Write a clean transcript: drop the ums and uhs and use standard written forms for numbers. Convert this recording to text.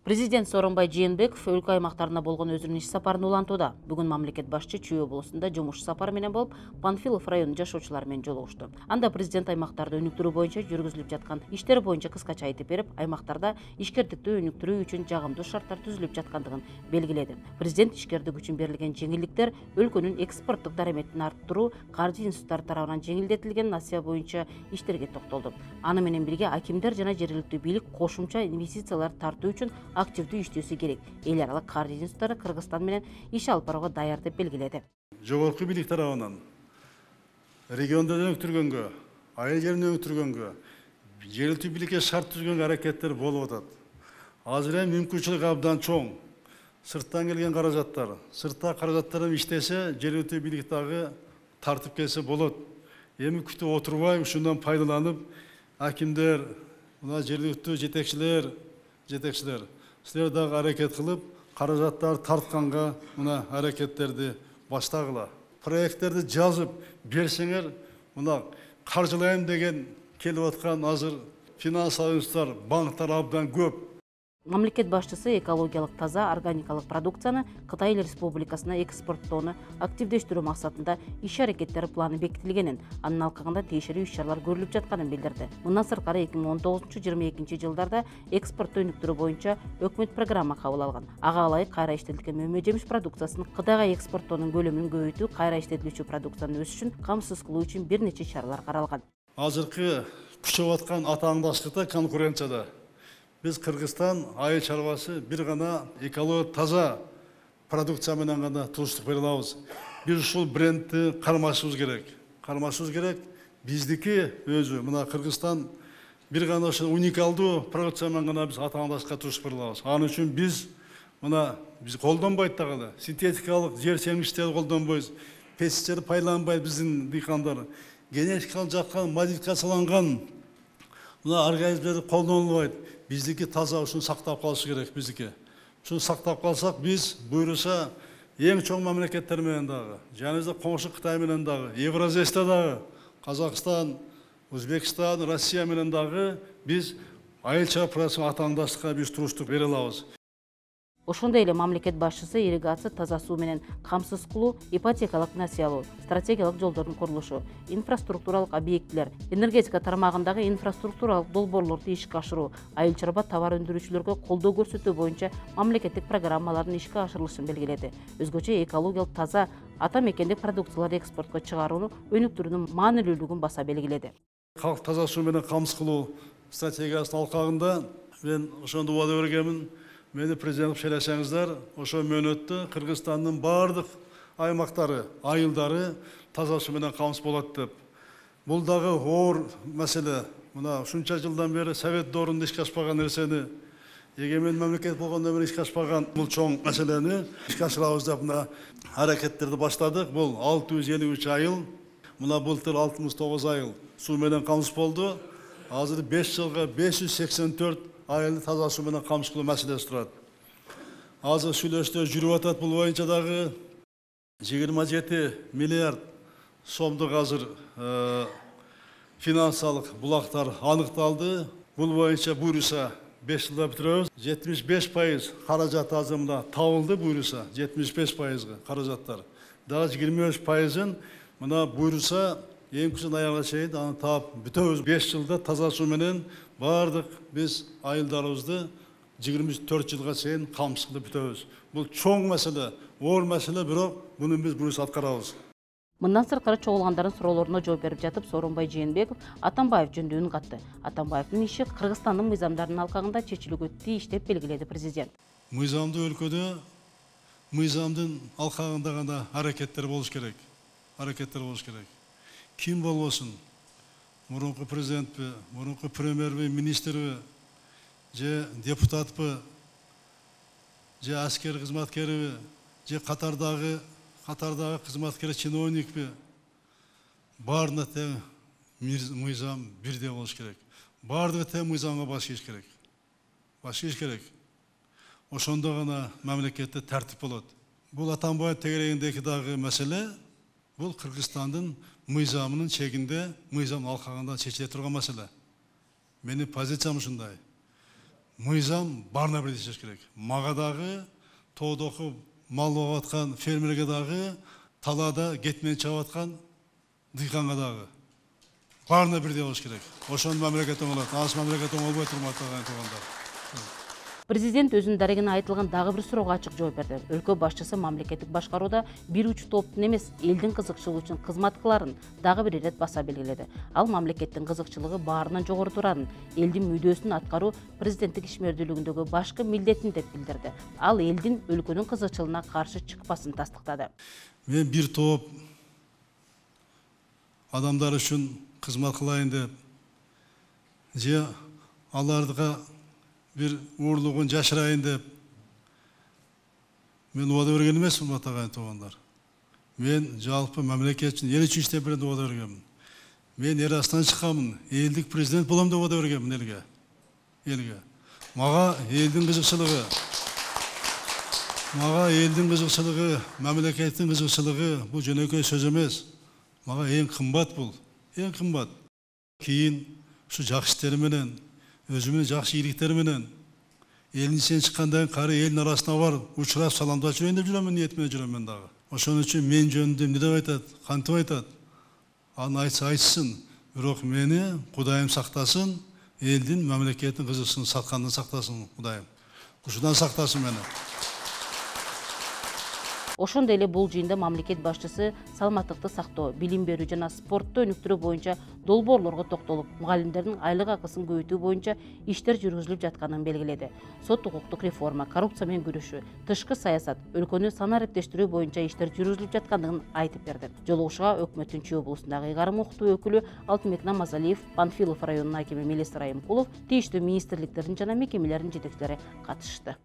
Президент Сооронбай Жээнбеков өлкө аймактарына болгон өзүнүн иш сапарын улантууда. Бүгүн мамлекет башчы Чүй облусунда жумуш сапары менен болуп, Панфилов районунун жашоочулары менен жолугушту. Анда президент аймактарды өнүктүрүү боюнча жүргүзүлүп жаткан иштер боюнча кыскача айтып берип, аймактарда ишкердикти өнүктүрүү үчүн жагымдуу шарттар түзүлүп жаткандыгын белгиледи. Президент ишкердик үчүн берилген жеңилдиктер өлкөнүн экспорттук дараметин арттыруу, каржы институттары тарабынан жеңилдетилген насыя боюнча иштерге токтолду. Аны менен бирге акимдер жана жергиликтүү бийлик кошумча инвестициялар тартуу үчүн активдүү иштөөсү керек. Эл аралык каржы институттары Кыргызстан менен иш алып барууга даяр деп белгиледи. Жогорку бийлик тарабынан регионду өнүктүргөнгө, айыл жерин өнүктүргөнгө, жергиликтүү бийликке шарт түзгөнгө аракеттер болуп атат. Азыр эми мүмкүнчүлүк абдан чоң. Сырттан келген каражаттар, сыртта каражаттар иштесе, жергиликтүү бийлик дагы тартып келсе болот. Эми күтүп отурбай, ушундан пайдаланып, акимдер, мына жергиликтүү жетекчилер, силер дагы аракет кылып, каражаттар тартканга мына аракеттерди баштагыла. Проекттерди жазып берсеңер, мына каржылайм деген келип аткан азыр финансылык институттар, банктар абдан көп. Мамлекет башчысы экологиялык таза органикалык продукцияны Кытай Республикасына экспорттоону активдештирүү максатында иш-аракеттер планы бекитилгенин, анын алкагында тиешелүү иш-чаралар көрүлүп жатканын билдирди. Мындан сырткары 2019-22 жылдарда экспортту өнүктүрүү боюнча өкмөт программа кабыл алган. Ага ылайык кайра иштетилген мөмө жемиш продукциясын Кытайга экспорттоонун көлөмүн көбөйтүү, кайра иштетилүүчү продукциянын өсүшүн камсыз кылуу үчүн бир нече чаралар каралган. Азыркы күчөп аткан атаандаштыкта, конкуренцияда biz Кыргызстан айыл чарбасы бир гана экология таза продукция менен гана туруштук бере алабыз. Биз ушул брендти кармашыбыз керек. Биздики өзү мына Кыргызстан бир гана ошо уникалдуу продукция менен гана биз атаандашка туруштук бере алабыз. Анын үчүн биз колдонбойт дагы синтетикалык жер семиштерди колдонбойбуз. Пестицид пайдаланбайт биздин дыйкандар. Генетикалык жактан модификацияланган мына организмдер колдонулбайт. Биздики таза ушуну сактап калыш керек биздики. Ушуну сактап калсак биз буйруса эң чоң мамлекеттер менен дагы, жаныбызда коңшу Кытай менен дагы, Евразияда дагы, Казакстан, Өзбекстан, Россия менен дагы биз айыл чарба продукциясына атаандаштыкка биз туруштук бере алабыз. Ошондой эле мамлекет башчысы ирригация, таза суу менен камсыз кылуу, ипотекалык насыялоо, стратегиялык жолдордун курулушу, инфраструктуралык объектилер, энергетика тармагындагы инфраструктуралык долбоорлорду ишке ашыруу, айыл чарба товар өндүрүүчүлөргө колдоо көрсөтүү боюнча мамлекеттик программалардын ишке ашырылышын белгиледи. Өзгөчө экологиялык таза ата мекендик продукцияларды экспортко чыгарууну өнүктүрүүнүн маанилүүлүгүн баса белгиледи. Калк таза суу менен камсыз кылуу стратегиясынын алкагында мен ошондо убада бергенмин. Мени президент шайласаңыздар, ошо мөөнөттө Кыргызстандын бардык аймактары, айылдары таза суу менен камсыз болот деп. Бул дагы оор маселе. Мына ушунча жылдан бери Совет доорунда ишке ашпаган нерсени, эгемен мамлекет болгондон бери ишке ашпаган бул чоң маселени ишке ашырабыз деп мына аракеттерди баштадык. Бул 653 айыл, мына былтыр 69 айыл суу менен камсыз болду. Азыр 5 жылга 584 айылды таза суу менен камсыз кылуу маселеси турат. Азыр сүйлөштөр жүрүп атат бул боюнча дагы 27 миллиард сомдук азыр финансылык булактар аныкталды. Бул боюнча буйруса 5 жылда бүтүрөбүз. 75% каражат азыр мына табылды буйруса, 75%га каражаттар. Дагы 23%-ын мына буйруса эң күзөн аягына чейин аны таап бүтөбүз. 5 жылда таза суу менен бардык биз айылдарыбызды 24 жылга чейин камсыз кылып бүтөбүз. Бул чоң маселе, оор маселе, бирок муну биз буюрса аткарабыз. Мындан сырткары чогулгандардын суроолоруна жооп берип жатып Сооронбай Жээнбеков Атамбаев жөнүндө үн катты. Атамбаевдин иши Кыргызстандын мыйзамдарынын алкагында чечилүүгө тийиш деп белгиледи президент. Мыйзамдуу өлкөдө мыйзамдын алкагында гана аракеттер болуш керек. Ким болбосун, мурунку президентпи, мурунку премьерби, министрби, же депутатпы, же аскер кызматкериби, же катардагы кызматкер чиновникпи, баарына тең мыйзам бирдей болуш керек. Баардыгы тең мыйзамга баш ийиш керек. Ошондо гана мамлекетте тартип болот. Бул Атамбаев тегерегиндеги дагы маселе, бул Кыргызстандын мыйзамынын чегинде, мыйзам алкагында чечиле турган маселе. Менин позициям ушундай. мыйзам баарына бирдей иштеш керек. Мага дагы, тоодогу мал багып аткан фермерге дагы, талаада кетмен чабып аткан дыйканга дагы. Баарына бирдей болуш керек. Ошону мамлекет оңолот. Анысы мамлекет оңолбой турмат туугандар. Президент өзүнүн дарегине айтылган дагы бир суроого ачык жооп берди. Өлкө башчысы мамлекеттик башкарууда бир уч топтун эмес, элдин кызыкчылыгы үчүн кызмат кыларын дагы бир ирет баса белгиледи. Ал мамлекеттин кызыкчылыгы баарынан жогору турарын, элдин мүдөөсүн аткаруу президенттик ишмердүүлүгүндөгү башкы милдетин деп билдирди. Ал элдин өлкөнүн кызыкчылыгына каршы чыкпасын тастыктады. Мен бир топ адамдар үчүн кызмат кылайын деп, же аларга bir uğurluğun жашырайын деп мен убада берген эмесмин, атаган туугандар. Мен жалпы мамлекет үчүн, эл үчүн иштеп берем деп убада бергенмин. Мен эл астынан чыкканмын, элдик президент болом деп убада бергенмин элге. Мага элдин кызыкчылыгы, мамлекеттин кызыкчылыгы бул жөнөкөй сөз эмес. Мага эң кымбат бул, эң кымбат. Кийин ушу жакшы иштери менен, өзүмün жакшы ийгиликтери менен элдин ичинен чыккандан кийин кары элдин арасына барып учурап саламдап жүрөйүн деп жүрөм, ниет менен жүрөм мен дагы. Ошон үчүн мен жөнүндө эмне деп айтат, кантип айтат? Аны айтсын, бирок мени Кудайым сактасын, элдин, мамлекеттин кызыкчылыгын саткандан сактасын Кудайым. Ушудан сактасын мени. Ошондой эле бул жыйында мамлекет башчысы саламаттыкты сактоо, билим берүү жана спортту өнүктүрүү боюнча долбоорлорго токтолуп, мугалимдердин айлык акысын көбөйтүү боюнча иштер жүргүзүлүп жатканын белгиледи. Сот укуктук реформа, коррупция менен күрөшүү, тышкы саясат, өлкөнү санариптештирүү боюнча иштер жүргүзүлүп жаткандыгын айтып берди. Жолугушууга өкмөттүн Чүй облусундагы ыйгарым укуктуу өкүлү Алтынбек Намазалиев, Панфилов районунун акими Мелис Райымкулов, тийиштүү министрликтердин жана мекемелердин жетекчилери катышты.